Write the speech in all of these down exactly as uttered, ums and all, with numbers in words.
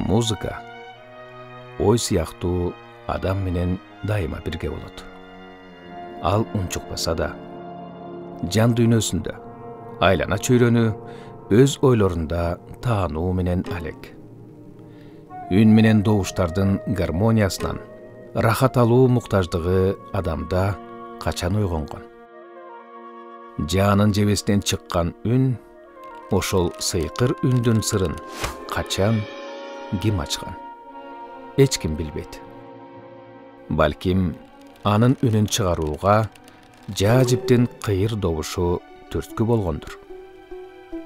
Музыка ой сыяктуу адам менен дайыма бирге болот. Ал унчукпаса да, жан дүйнөсүндө айлана чөйрөнү өз ойлорунда таануу менен алек. Үн менен добуштардын гармониясынан рахат алуу муктаждыгы адамда качан ойгонгон. Жанын жебесинен чыккан үн, ошол сыйкыр үндүн сырын качан ким ачкан? Эч ким билбейт. Балким анын үнүн чыгарууга жаа-жиптин кыйыр добушу түрткү болгондур.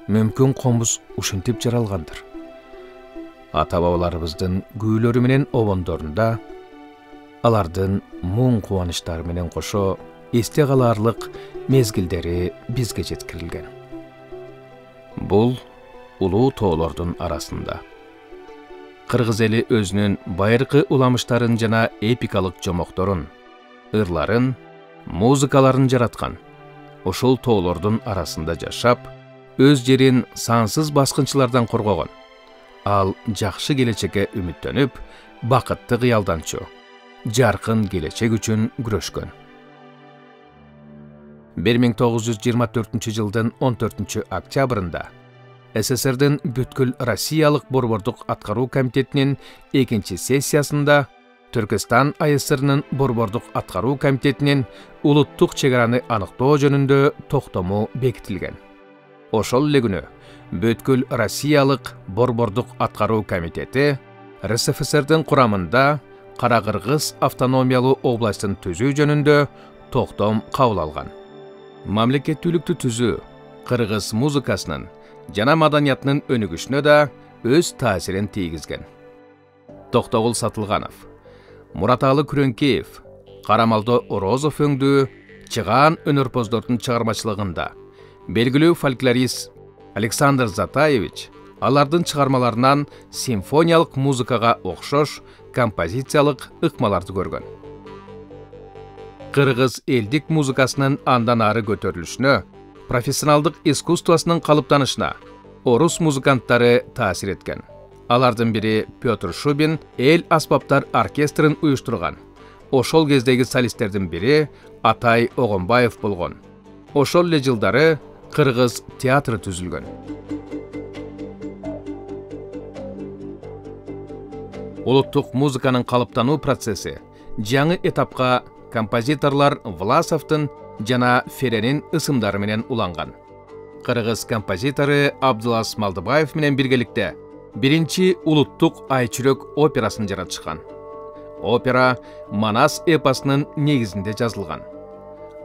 Мүмкүн комуз ушинтип жаралгандыр. Ата-бабаларыбыздын күүлөрү менен обондорунда алардын муң кубанычтары менен кошо эсте калаарлык мезгилдери бизге жеткирилген. Бул улуу тоолордун арасында кыргыз эли өзүнүн байыркы уламыштарын жана эпикалык жомокторун, ырларын, музыкаларын жараткан. Ошол тоолордун арасында жашап, өз жерин сансыз баскынчылардан коргогон. Ал жакшы келечекке үмүттөнүп, бакытты кыялданчу, жаркын келечек үчүн күрөшкөн. бир миң тогуз жүз жыйырма төртүнчү жылдын он төртүнчү октябрында СССРдин бүткүл Россиялык борбордук аткаруу комитетинин экинчи сессиясында Түркистан АСРнын борбордук аткаруу комитетинин улуттук чегараны аныктоо жөнүндө токтому бекитилген. Ошол эле күнү бүткүл Россиялык борбордук аткаруу комитети РСФСРдин курамында Кара-Кыргыз автономиялуу областын түзүү жөнүндө токтом кабыл алган. Мамлекеттүүлүктү түзүү кыргыз музыкасынын жана маданиятынын өнүгүшүнө да өз таасирин тийгизген. Токтогул Сатылганов, Мураталы Күрөңкеев, Карамалдо Орозов өңдүү чыгаан өнөрпоздордун чыгармачылыгында белгилүү фольклорист Александр Затаевич алардын чыгармаларынан симфониялык музыкага окшош композициялык ыкмаларды көргөн. Кыргыз элдик музыкасынын андан ары көтөрүлүшүнө, профессионалдык искусствосунун калыптанышына орус музыканттары таасир эткен. Алардын бири Петр Шубин эл аспаптар оркестрин уюштурган. Ошол кездеги солисттердин бири Атай Огонбаев болгон. Ошол эле жылдары Кыргыз театры түзүлгөн. Улуттук музыканын калыптануу процесси жаңы этапка композиторлор Власовдун жана Ференин ысымдары менен уланган. Кыргыз композитору Абдулас Малдыбаев менен биргеликте биринчи улуттук айчүрөк операсын жаратышкан. Опера Манас эпосунун негизинде жазылган.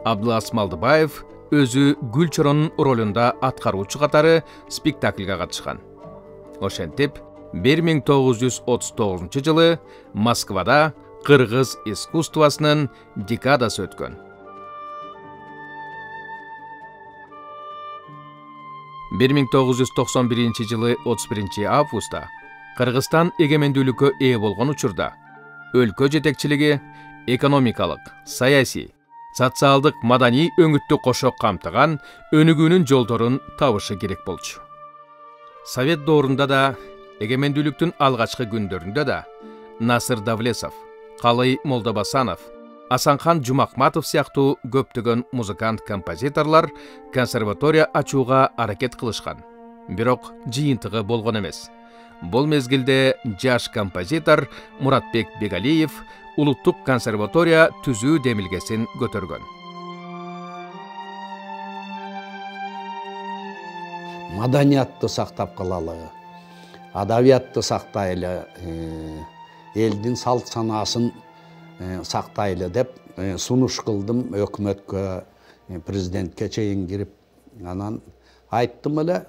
Абдулас Малдыбаев өзү Гүлчоронун ролунда аткаруучу катары спектакльга катышкан. Ошентип, бир миң тогуз жүз отуз тогузунчу жылы Москвада кыргыз искусствосунун декадасы өткөн. бир миң тогуз жүз токсон биринчи жылы отуз биринчи августта Кыргызстан эгемендүүлүккө ээ болгон учурда өлкө жетекчилиги экономикалык, саясий, социалдык, маданий өңүттү кошо камтыган өнүгүүнүн жолдорун табышы керек болчу. Совет доорунда да, эгемендүүлүктүн алгачкы күндөрүндө да Насыр Давлесов, Калый Молдобасанов, Асанхан Жумакматов сыяктуу көптөгөн музыкант-композиторлор консерватория ачууга аракет кылышкан. Бирок жыйынтыгы болгон эмес. Бул мезгилде жаш композитор Муратбек Бегалиев улуттук консерватория түзүү демилгесин көтөргөн. Маданиятты сактап калалы, адабиятты сактайлы, элдин салт санаасын сактайлы деп сунуш кылдым өкмөткө, президентке чейин кирип, анан айттым эле,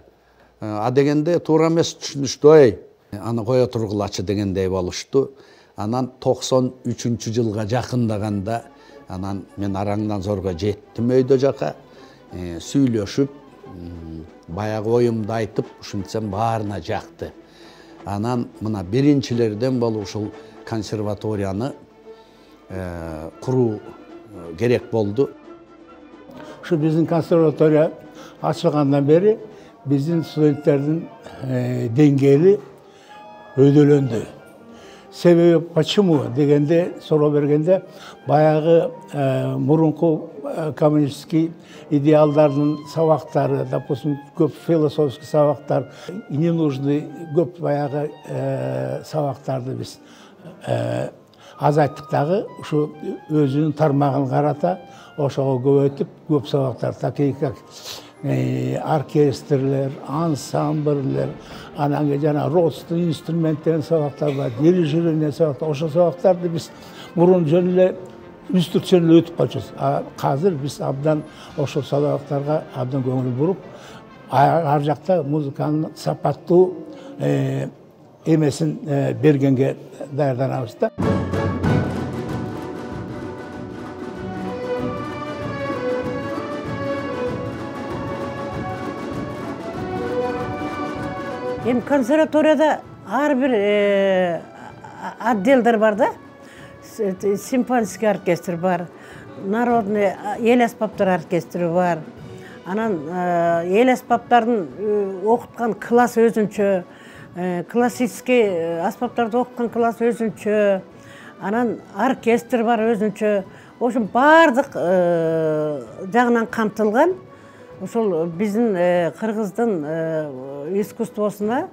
а дегенде туура эмес түшүнүштү, аны кое тургулачы дегендей болушту. Анан токсон үчүнчү жылга жакындаганда, анан мен араңдан зорго жеттим өйдө жака, сүйлөшүп, баягы оюмду айтып, ушинтсем баарына жакты. Анан мына биринчилерден болуп ушул консерваторияны куруу керек болду. Ушу биздин консерватория ачылгандан бери биздин студенттердин деңгээли өйдөлөндү. Себеби почему дегенде суроо бергенде баягы мурунку коммунистский идеалдардын сабактары, допустим, көп философский сабактар, не нужны көп баягы сабактарды биз аз айттык дагы, ушу өзүнүн тармагын карата ошого көбөйтүп көп сабактар, такие как оркестрлер, ансамбльлер, анан кийин жана родственный инструмент деген сабактар бар, дирижирование сабактар. Ошол сабактарды биз мурун жөн эле институционно өтүп калчубуз. А азыр биз абдан ошол сабактарга абдан көңүл буруп, ар жакта музыканын сапаттуу эмесин бергенге даярданабыз да. Эми консерваторияда ар бир отделдер бар да. Симфонический оркестр бар, народный эл аспаптар оркестри бар. Анан эл аспаптарын окуткан класс өзүнчө, классический аспаптарды окуткан класс өзүнчө, анан оркестр бар өзүнчө. Ошо бардык жагынан камтылган. Ошол биздин кыргыздын искусствосуна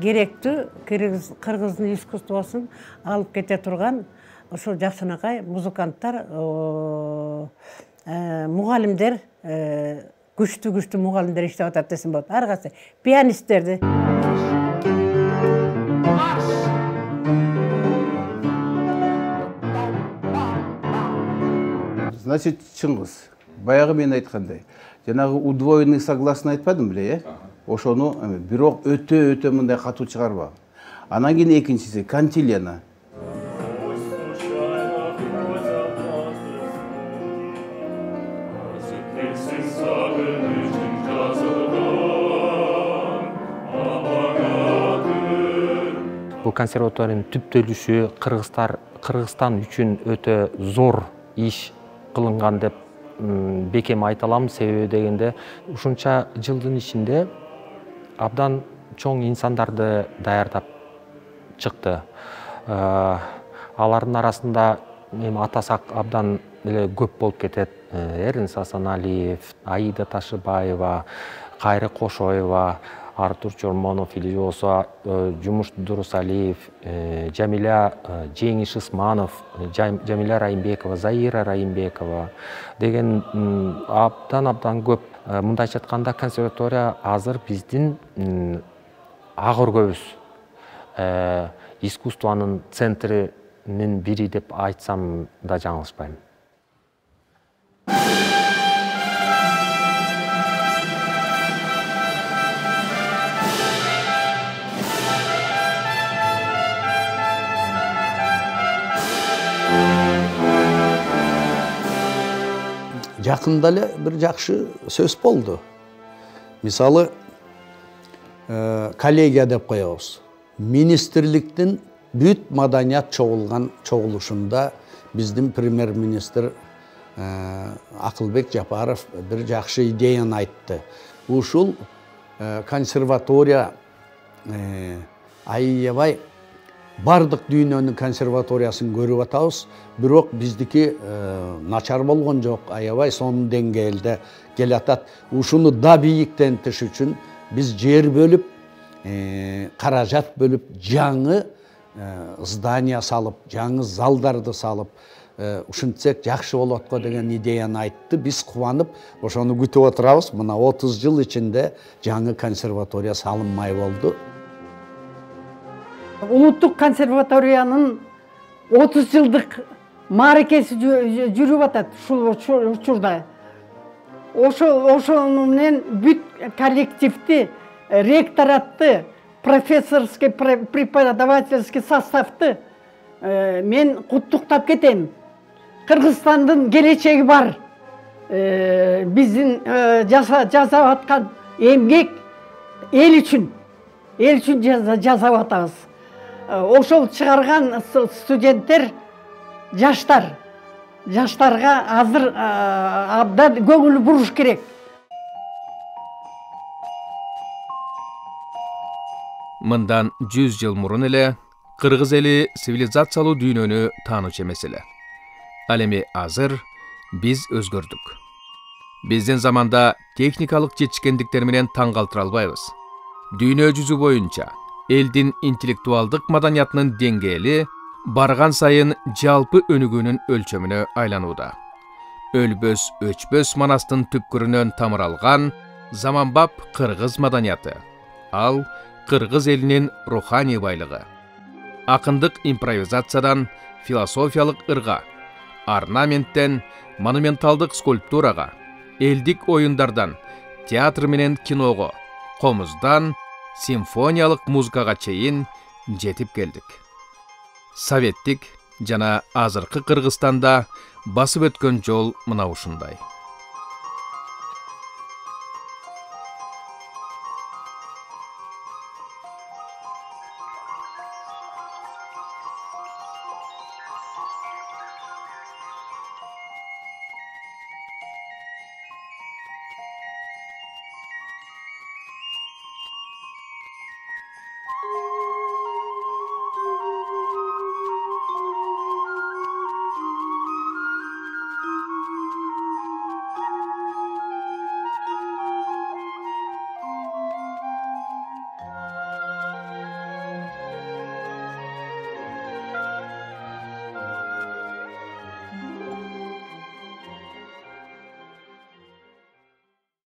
керектүү, кыргыздын искусствосун алып кете турган ошол жакшынакай музыканттар, мугалимдер, күчтүү-күчтүү мугалимдер иштеп атат десем болот. Ар кайсы пианисттерди. Значит, Чыңгыз, баягы мен айткандай, жанагы удвоенный согласный айтпадым беле, э? Ошону бирок өтө-өтө мындай катуу чыгарбаган. Анан кийин экинчиси кантилена. Бул консерваториянын түптөлүшү Кыргызстан үчүн өтө зор иш кылынган деп бекем айта алам. Себеби дегенде ушунча жылдын ичинде абдан чоң инсандарды даярдап чыкты. Алардын арасында эми атасак абдан эле көп болуп кетет. Эрнест Асаналиев, Аида Ташыбаева, Кайры Кошоева, Артур Чормонов или болсо Жумуш Дурусалиев, Жамиля Жеңиш Исманов, Жамиля Райымбекова, Заира Райымбекова деген абдан-абдан көп. Мындайча айтканда консерватория азыр биздин ак өргөбүз, искусствонун центринин бири деп айтсам да жаңылышпайм. Жакында эле бир жакшы сөз болду. Мисалы, коллегия деп коебуз. Министрликтин бүт маданият чогулган чогулушунда биздин премьер-министр Акылбек Жапаров бир жакшы идеяны айтты. Ушул консерватория аябай бардык дүйнөнүн консерваториясын көрүп атабыз, бирок биздики начар болгон жок, аябай сонун деңгээлде келатат. Ушуну да бийиктентиш үчүн биз жер бөлүп, каражат бөлүп, жаңы здания салып, жаңы залдарды салып, ушинтсек жакшы болот го деген идеяны айтты. Биз кубанып, ошону күтүп отурабыз. Мына отуз жыл ичинде жаңы консерватория салынмай болду. Улуттук консерваториянын отуз жылдык мааракеси жүрүп атат ушул учурда. Ошону менен бүт коллективди, ректоратты, профессорский, преподавательский составты мен куттуктап кетем. Кыргызстандын келечеги бар. Биздин жасап аткан эмгек эл үчүн, эл үчүн жасап атабыз. Ошол чыгарган студенттер, жаштар, жаштарга азыр абдан көңүл буруш керек. Мындан жүз жыл мурун эле кыргыз эли цивилизациялуу дүйнөнү таанычу эмес эле. Ал эми азыр биз өзгөрдүк. Биздин заманда техникалык жетишкендиктер менен таң калтыра албайбыз. Дүйнө жүзү боюнча элдин интеллектуалдык маданиятынын деңгээли барган сайын жалпы өнүгүүнүн өлчөмүнө айланууда. Өлбөс өчпөс манастын түпкүрүнөн тамыр алган заманбап кыргыз маданияты. Ал кыргыз элинин руханий байлыгы. Акындык импровизациядан философиялык ырга, орнаменттен монументалдык скульптурага, элдик оюндардан театр менен киного, комуздан симфониялык музыкага чейин жетип келдик. Советтик жана азыркы Кыргызстанда басып өткөн жол мына ушундай.